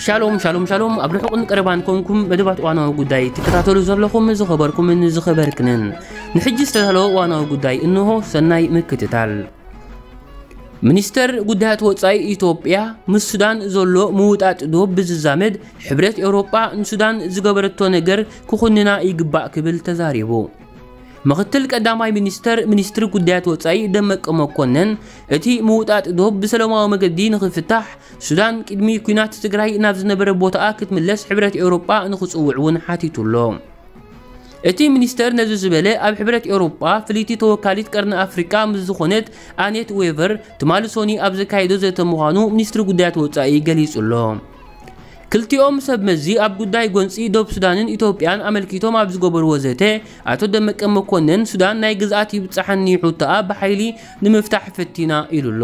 ሻሎም ሻሎም ሻሎም። ኣብ ርሑቕን ቀረባን ኮንኩም መደባት እዋናዊ ጉዳይ ትከታተሉ ዘለኹም ዝኸበርኩምን ዝኸበርክንን፣ ንሕጂ ዝተዳለወ እዋናዊ ጉዳይ እንሆ። ሰናይ ምክትታል። ሚኒስተር ጉዳያት ወጻኢ ኢትዮጵያ ምስ ሱዳን ዘሎ ምውጣጥ ዶብ ብዝዛመድ ሕብረት ኤውሮጳ ንሱዳን ዝገበረቶ ነገር ክኹንና ይግባእ ክብል ተዛሪቡ። ምኽትል ቀዳማይ ሚኒስተር ሚኒስትሪ ጉዳያት ወጻኢ ደመቀ መኮነን፣ እቲ ምውጣጥ ዶብ ብሰላማዊ መገዲ ንኽፍታሕ ሱዳን ቅድሚ ኲናት ትግራይ ናብ ዝነበረ ቦታኣ ክትምለስ ሕብረት ኤውሮጳ ንኽጽውዕ እውን ሓቲቱ ኣሎ። እቲ ሚኒስተር ነዚ ዝበለ ኣብ ሕብረት ኤውሮጳ ፍልይቲ ተወካሊት ቀርኒ ኣፍሪቃ ምስ ዝኾነት ኣኔት ዌቨር ትማሊ ሶኒ ኣብ ዘካየዶ ዘተ ምዃኑ ሚኒስትሪ ጉዳያት ወጻኢ ገሊጹ ኣሎ። ክልቲኦም ሰብ መዚ ኣብ ጉዳይ ጎንጺ ዶብ ሱዳንን ኢትዮጵያን ኣመልኪቶም ኣብ ዝገበርዎ ዘተ፣ ኣቶ ደመቀ መኮነን ሱዳን ናይ ግዝኣት ይብጻሓኒ ሕቶኣ ብሓይሊ ንምፍታሕ ፈቲና ኢሉ ኣሎ።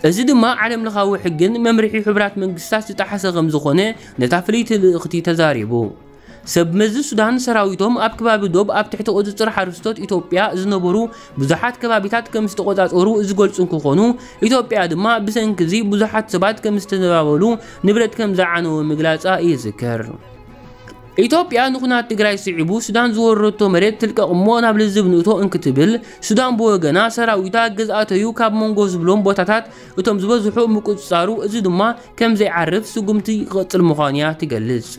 እዚ ድማ ዓለም ለኻዊ ሕግን መምርሒ ሕቡራት መንግስታት ዝጠሓሰ ከም ዝኾነ ነታ ፍልይቲ ልእኽቲ ተዛሪቡ። ሰብ መዚ ሱዳን ሰራዊቶም ኣብ ከባቢ ዶብ ኣብ ትሕቲ ቁጽጽር ሓረስቶት ኢትዮጵያ ዝነበሩ ብዙሓት ከባቢታት ከም ዝተቆጻጸሩ ዝገልጹ እንትኾኑ፣ ኢትዮጵያ ድማ ብሰንኪ እዚ ብዙሓት ሰባት ከም ዝተዘባበሉ፣ ንብረት ከም ዝዓነወ ምግላጻ ይዝከር። ኢትዮጵያ ንኹናት ትግራይ ስዒቡ ሱዳን ዝወረረቶ መሬት ትልቀቕ እሞ ናብ ልዝብ ንእቶ እንክትብል፣ ሱዳን ብወገና ሰራዊታ ግዝኣተዩ ካብ መንጎ ዝብሎም ቦታታት እቶም ዝበዝሑ ምቁጽጻሩ፣ እዚ ድማ ከም ዘይዓርፍ ስጉምቲ ይቐጽል ምዃኑ እያ ትገልጽ።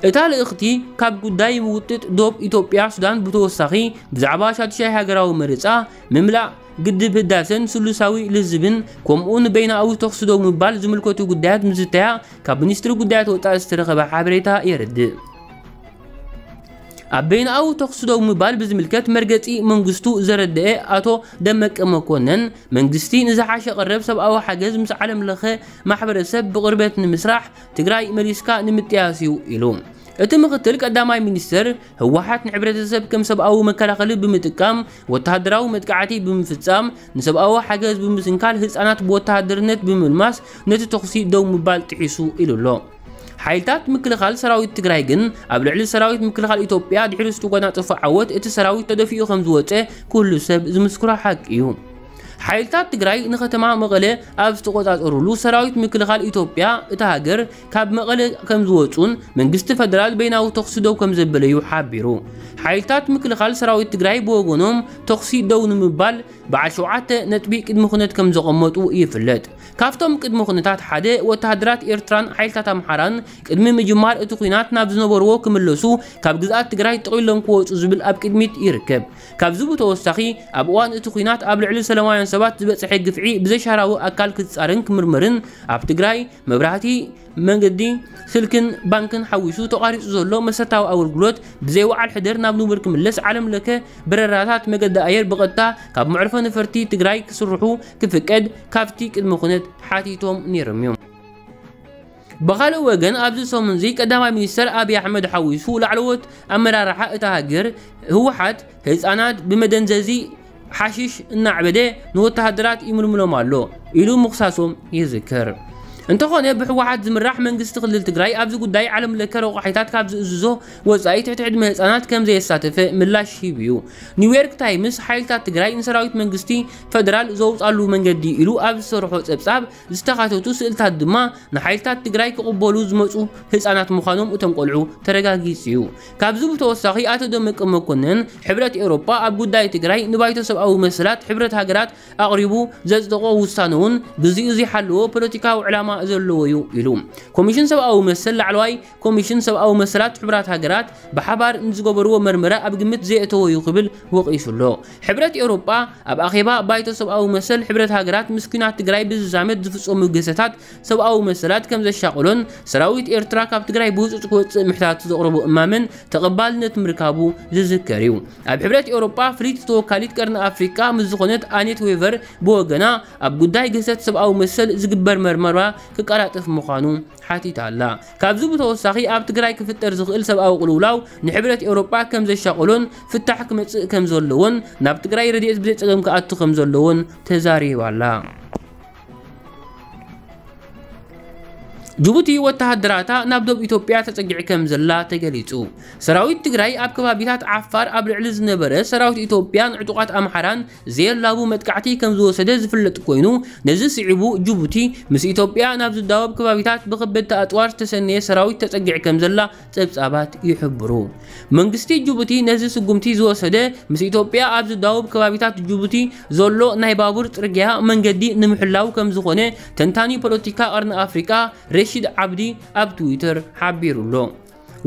እታ ልእኽቲ ካብ ጉዳይ ምውጥጥ ዶብ ኢትዮጵያ ሱዳን ብተወሳኺ ብዛዕባ ሻዱሻይ ሃገራዊ መረጻ፣ ምምላእ ግድብ ህዳሰን ስሉሳዊ ልዝብን ከምኡ ንበይናዊ ተኹሲ ደው ምባል ዝምልከቱ ጉዳያት ምዝተያ ካብ ሚኒስትሪ ጉዳያት ወጻኢ ዝተረኸበ ሓበሬታ የረድእ። ኣብ በይናዊ ተኹሲ ደው ምባል ብዝምልከት መርገጺ መንግስቱ ዘረደአ ኣቶ ደመቀ መኮነን፣ መንግስቲ ንዝሓሸ ቀረብ ሰብኣዊ ሓገዝ ምስ ዓለም ለኸ ማሕበረሰብ ብቕርበት ንምስራሕ ትግራይ መሊስካ ንምጥያስ እዩ ኢሉ። እቲ ምኽትል ቀዳማይ ሚኒስትር፣ ህወሓት ንሕብረተሰብ ከም ሰብኣዊ መከላኸሊ ብምጥቃም፣ ወተሃደራዊ መጥቃዕቲ ብምፍጻም፣ ንሰብኣዊ ሓገዝ ብምስንካል፣ ህጻናት ብወተሃደርነት ብምልማስ ነቲ ተኹሲ ደው ምባል ጥሒሱ ኢሉ ኣሎ። ሓይልታት ምክልኻል ሰራዊት ትግራይ ግን ኣብ ልዕሊ ሰራዊት ምክልኻል ኢትዮጵያ ድሕሪ ዝተጎናጸፎ ዓወት እቲ ሰራዊት ተደፊኡ ከም ዝወጸ ኩሉ ሰብ ዝምስክሮ ሓቂ እዩ። ሓይልታት ትግራይ ንከተማ መቐለ ኣብ ዝተቆጻጸሩሉ ሰራዊት ምክልኻል ኢትዮጵያ እታ ሃገር ካብ መቐለ ከም ዝወጹን መንግስቲ ፈደራል በይናዊ ተኹሲ ደው ከም ዘበለዩ ሓቢሩ። ሓይልታት ምክልኻል ሰራዊት ትግራይ ብወገኖም ተኹሲ ደው ንምባል በዓል ሸውዓተ ነጥቢ ቅድሚ ኩነት ከም ዘቐመጡ ይፍለጥ። ካብቶም ቅድሚ ኩነታት ሓደ ወተሃደራት ኤርትራን ሓይልታት ኣምሓራን ቅድሚ ምጅማር እቲ ኲናት ናብ ዝነበርዎ ክምለሱ ካብ ግዝኣት ትግራይ ጥቕሊሎም ክወጹ ዝብል ኣብ ቅድሚት ይርከብ። ካብዚ ብተወሳኺ ኣብ እዋን እቲ ኲናት ኣብ ልዕሊ ሰላማውያን ሰባት ዝበጽሐ ግፍዒ ብዘሻራዊ ኣካል ክጻረን ክምርመርን ኣብ ትግራይ መብራህቲ፣ መንገዲ፣ ስልክን ባንክን ሓዊሱ ተቋሪጹ ዘሎ መሰረታዊ ኣገልግሎት ብዘይ ወዓል ሕደር ናብ ንቡር ክምለስ ዓለም ለከ በረራታት መገዲ ኣየር ብቐጥታ ካብ መዕርፎ ነፈርቲ ትግራይ ክስርሑ ክፍቀድ ካብቲ ቅድመ ኩነት ሓቲቶም ነይሮም እዮም። ብኻልእ ወገን ኣብዚ ሰሙን እዚ ቀዳማይ ሚኒስተር ኣብይ ኣሕመድ ሓዊሱ ላዕለዎት ኣመራርሓ እታ ሃገር ህወሓት ህፃናት ብመደንዘዚ ሓሽሽ እናዕበደ ንወተሃደራት ይምልምሎም ኣሎ ኢሉ ምኽሳሶም ይዝከር። እንተኾነ ብህወሓት ዝምራሕ መንግስቲ ክልል ትግራይ ኣብዚ ጉዳይ ዓለም ለከ ረቋሒታት ካብ ዝእዝዞ ወፃኢ ትሕቲ ዕድመ ህፃናት ከም ዘየሳተፈ ምላሽ ሂቡ እዩ። ኒውዮርክ ታይምስ ሓይልታት ትግራይ ንሰራዊት መንግስቲ ፈደራል ዘውፃሉ መንገዲ ኢሉ ኣብ ዝሰርሖ ፀብፃብ ዝተኻተቱ ስእልታት ድማ ንሓይልታት ትግራይ ክቕበሉ ዝመፁ ህፃናት ምዃኖም እቶም ቆልዑ ተረጋጊፁ እዩ። ካብዚ ብተወሳኺ ኣቶ ደመቀ መኮነን ሕብረት ኤውሮጳ ኣብ ጉዳይ ትግራይ ንባይቶ ሰብኣዊ መሰላት ሕብረት ሃገራት ኣቕሪቡ ዘጽደቖ ውሳነ እውን ግዚኡ ዘይሓለዎ ፖለቲካዊ ዕላማ ዘለዎ እዩ ኢሉ። ኮሚሽን ሰብኣዊ መሰል ላዕለዋይ ኮሚሽን ሰብኣዊ መሰላት ሕቡራት ሃገራት ብሓባር ንዝገበርዎ መርመራ ኣብ ግምት ዘየእተዎ እዩ ክብል ወቒሱ ኣሎ። ሕብረት ኤውሮጳ ኣብ ኣኼባ ባይቶ ሰብኣዊ መሰል ሕብረት ሃገራት ምስ ኲናት ትግራይ ብዝዛመድ ዝፍጸሙ ግህሰታት ሰብኣዊ መሰላት ከም ዘሻቕሎን ሰራዊት ኤርትራ ካብ ትግራይ ብህጹጽ ክወጽእ ምሕታቱ ዘቕረቦ እማመን ተቐባልነት ምርካቡ ዝዝከር እዩ። ኣብ ሕብረት ኤውሮጳ ፍልይቲ ተወካሊት ቀርኒ ኣፍሪቃ ምስ ዝኾነት ኣኔት ዌቨር ብወገና ኣብ ጉዳይ ግህሰት ሰብኣዊ መሰል ዝግበር መርመራ ክቀላጠፍ ምዃኑ ሓቲታ ኣላ። ካብዚ ብተወሳኺ ኣብ ትግራይ ክፍጠር ዝኽእል ሰብኣዊ ቅልውላው ንሕብረት ኤውሮጳ ከም ዘሻቕሎን ፍታሕ ክመጽእ ከም ዘለዎን ናብ ትግራይ ረድኤት ብዘይ ጸገም ክኣቱ ከም ዘለዎን ተዛሪባ ኣላ። ጅቡቲ ወተሃደራታ ናብ ዶብ ኢትዮጵያ ተጸጊዕ ከም ዘላ ተገሊጹ። ሰራዊት ትግራይ ኣብ ከባቢታት ዓፋር ኣብ ልዕሊ ዝነበረ ሰራዊት ኢትዮጵያን ዕጡቓት ኣምሓራን ዘየላቡ መጥቃዕቲ ከም ዝወሰደ ዝፍለጥ ኮይኑ፣ ነዚ ስዒቡ ጅቡቲ ምስ ኢትዮጵያ ናብ ዝዳወብ ከባቢታት ብኸበድቲ ኣጽዋር ዝተሰነየ ሰራዊት ተጸጊዕ ከም ዘላ ጸብጻባት ይሕብሩ። መንግስቲ ጅቡቲ ነዚ ስጉምቲ ዝወሰደ ምስ ኢትዮጵያ ኣብ ዝዳወብ ከባቢታት ጅቡቲ ዘሎ ናይ ባቡር ጽርግያ መንገዲ ንምሕላው ከም ዝኾነ ተንታኒ ፖለቲካ ቀርኒ ኣፍሪቃ ረሺድ ዓብዲ ኣብ ትዊተር ሓቢሩ ኣሎ።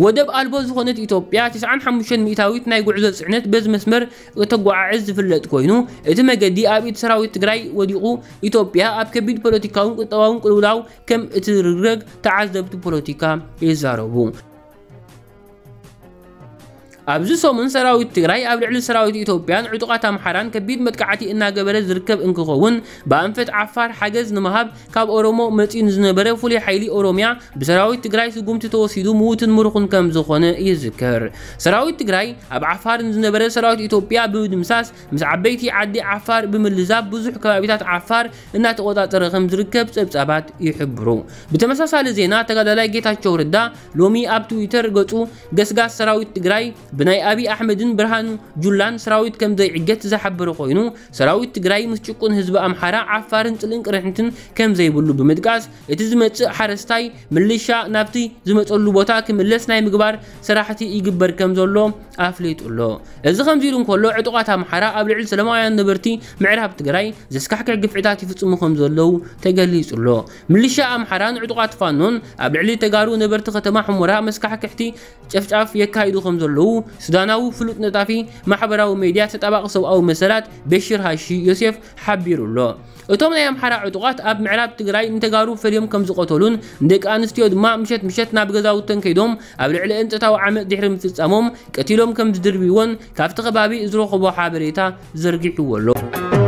ወደብ ኣልቦ ዝኾነት ኢትዮጵያ ትስዓን ሓሙሽተን ሚእታዊት ናይ ጉዕዞ ጽዕነት በዚ መስመር እተጓዓዕዝ ዝፍለጥ ኮይኑ፣ እቲ መገዲ ኣብ ኢድ ሰራዊት ትግራይ ወዲቑ ኢትዮጵያ ኣብ ከቢድ ፖለቲካውን ቁጠባውን ቅልውላው ከም እትርግረግ ተዓዘብቲ ፖለቲካ ይዛረቡ። ኣብዚ ሰሙን ሰራዊት ትግራይ ኣብ ልዕሊ ሰራዊት ኢትዮጵያን ዕጡቓት ኣምሓራን ከቢድ መጥቃዕቲ እናገበረ ዝርከብ እንክኸውን፣ ብኣንፈት ዓፋር ሓገዝ ንምሃብ ካብ ኦሮሞ መፂኡ ንዝነበረ ፍሉይ ሓይሊ ኦሮሚያ ብሰራዊት ትግራይ ስጉምቲ ተወሲዱ ምዉትን ምሩኹን ከም ዝኾነ ይዝከር። ሰራዊት ትግራይ ኣብ ዓፋር ንዝነበረ ሰራዊት ኢትዮጵያ ብምድምሳስ፣ ምስ ዓበይቲ ዓዲ ዓፋር ብምልዛብ ብዙሕ ከባቢታት ዓፋር እናተቆጻጸረ ከም ዝርከብ ጸብጻባት ይሕብሩ። ብተመሳሳሊ ዜና፣ ተጋዳላይ ጌታቸው ረዳ ሎሚ ኣብ ትዊተር ገጹ፣ ገስጋስ ሰራዊት ትግራይ ብናይ ኣብይ ኣሕመድን ብርሃኑ ጁላን ሰራዊት ከም ዘይዕገት ዝሓበረ ኮይኑ፣ ሰራዊት ትግራይ ምስ ጭቁን ህዝቢ ኣምሓራ፣ ዓፋርን ጽልእን ቅርሕንትን ከም ዘይብሉ ብምጥቃስ፣ እቲ ዝመጽእ ሓረስታይ ምልሻ ናብቲ ዝመጸሉ ቦታ ክምለስ ናይ ምግባር ስራሕቲ ይግበር ከም ዘሎ ኣፍሊጡ ኣሎ። እዚ ከምዚ ኢሉ እንከሎ፣ ዕጡቓት ኣምሓራ ኣብ ልዕሊ ሰላማውያን ነበርቲ ምዕራብ ትግራይ ዘስካሕክሕ ግፍዕታት ይፍጽሙ ከም ዘለዉ ተገሊጹ ኣሎ። ምልሻ ኣምሓራን ዕጡቓት ፋኖን ኣብ ልዕሊ ተጋሩ ነበርቲ ከተማ ሑመራ መስካሕክሕቲ ጨፍጫፍ የካይዱ ከም ዘለዉ ሱዳናዊ ፍሉጥ ነጣፊ ማሕበራዊ ሜድያ ተጣባቂ ሰብኣዊ መሰላት በሽር ሃሺ ዮሴፍ ሓቢሩ ኣሎ። እቶም ናይ ኣምሓራ ዕጡቓት ኣብ ምዕራብ ትግራይ ንተጋሩ ፈልዮም ከም ዝቐተሉን ንደቂ ኣንስትዮ ድማ ምሸት ምሸት ናብ ገዛውተን ከይዶም ኣብ ልዕሊአን ጾታዊ ዓመጽ ድሕሪ ምፍጻሞም ቀቲሎም ከም ዝድርብይዎን ካብቲ ከባቢ ዝረኸቦ ሓበሬታ ዘርጊሕዎ ኣሎ።